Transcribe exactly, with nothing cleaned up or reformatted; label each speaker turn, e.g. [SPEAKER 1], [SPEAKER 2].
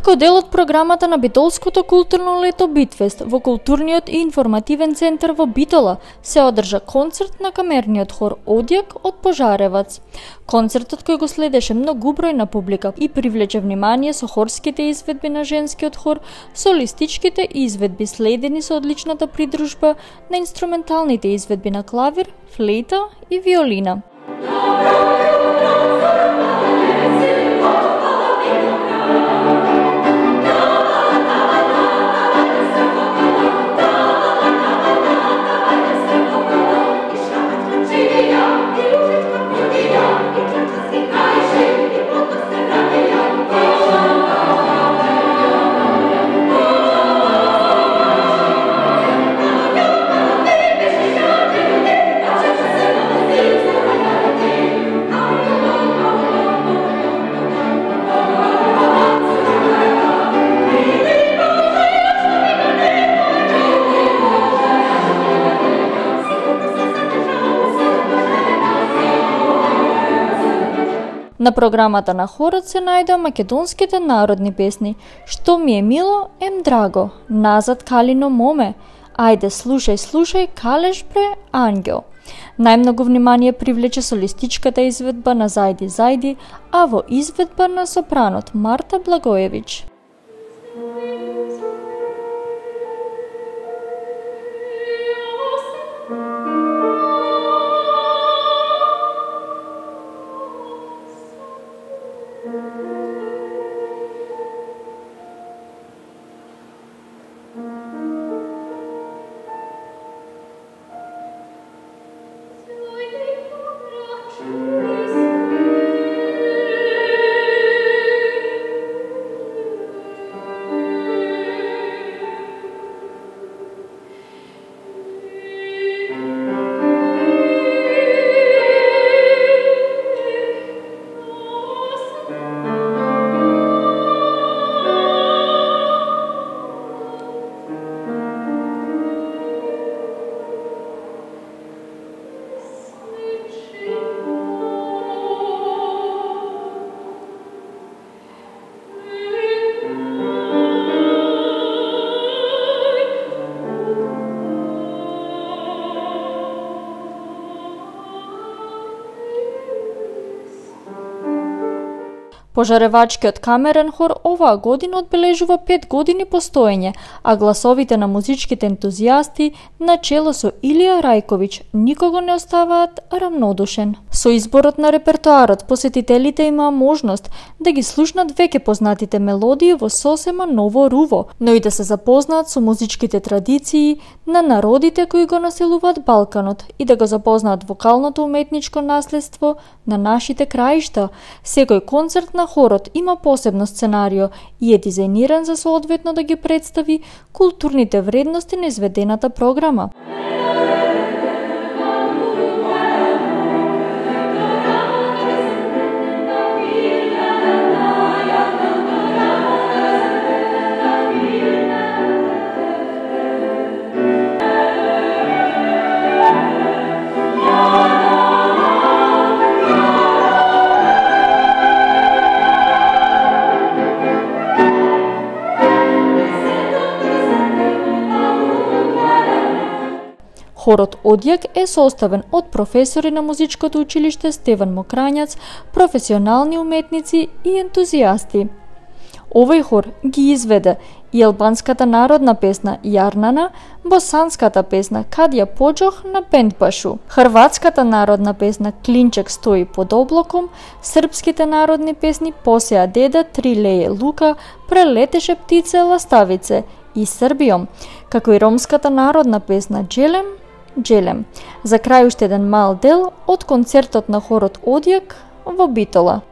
[SPEAKER 1] Како дел од програмата на Битолското културно лето Битфест во културниот и информативен центар во Битола се одржа концерт на камерниот хор Одјак од Пожаревац. Концертот кој го следеше многу бројна публика и привлече внимание со хорските изведби на женскиот хор, солистичките изведби следени со одличната придружба на инструменталните изведби на клавир, флейта и виолина. На програмата на хорот се најдоа македонските народни песни "Што ми е мило, ем драго", "Назад Калино моме", "Ајде слушај, слушај, калеш бре, ангел". Најмногу внимание привлече солистичката изведба на Зајди Зајди, а во изведба на сопранот Марта Благоевич. Пожаревачкиот камерен хор оваа година одбележува пет години постоење, а гласовите на музичките ентузијасти на чело со Илија Рајковиќ никого не оставаат рамнодушен. Со изборот на репертоарот посетителите имаа можност да ги слушнат веќе познатите мелодии во сосема ново руво, но и да се запознаат со музичките традиции на народите кои го населуваат Балканот и да го запознаат вокалното уметничко наследство на нашите краишта. Секој концерт на хорот има посебно сценарио и е дизајниран за соодветно да ги представи културните вредности на изведената програма. Хорот Одјак е составен од професори на музичкото училиште Стеван Мокрањац, професионални уметници и ентузијасти. Овој хор ги изведе и албанската народна песна Јарнана, босанската песна Кадја поџох на Пендбашу, хрватската народна песна Клинчек стои под облаком, српските народни песни Посеа деда, Три леје лука, Прелетеше птице ластавице и Србијом, како и ромската народна песна Джелем, Джелем. За крај уште еден мал дел од концертот на хорот Одјак во Битола.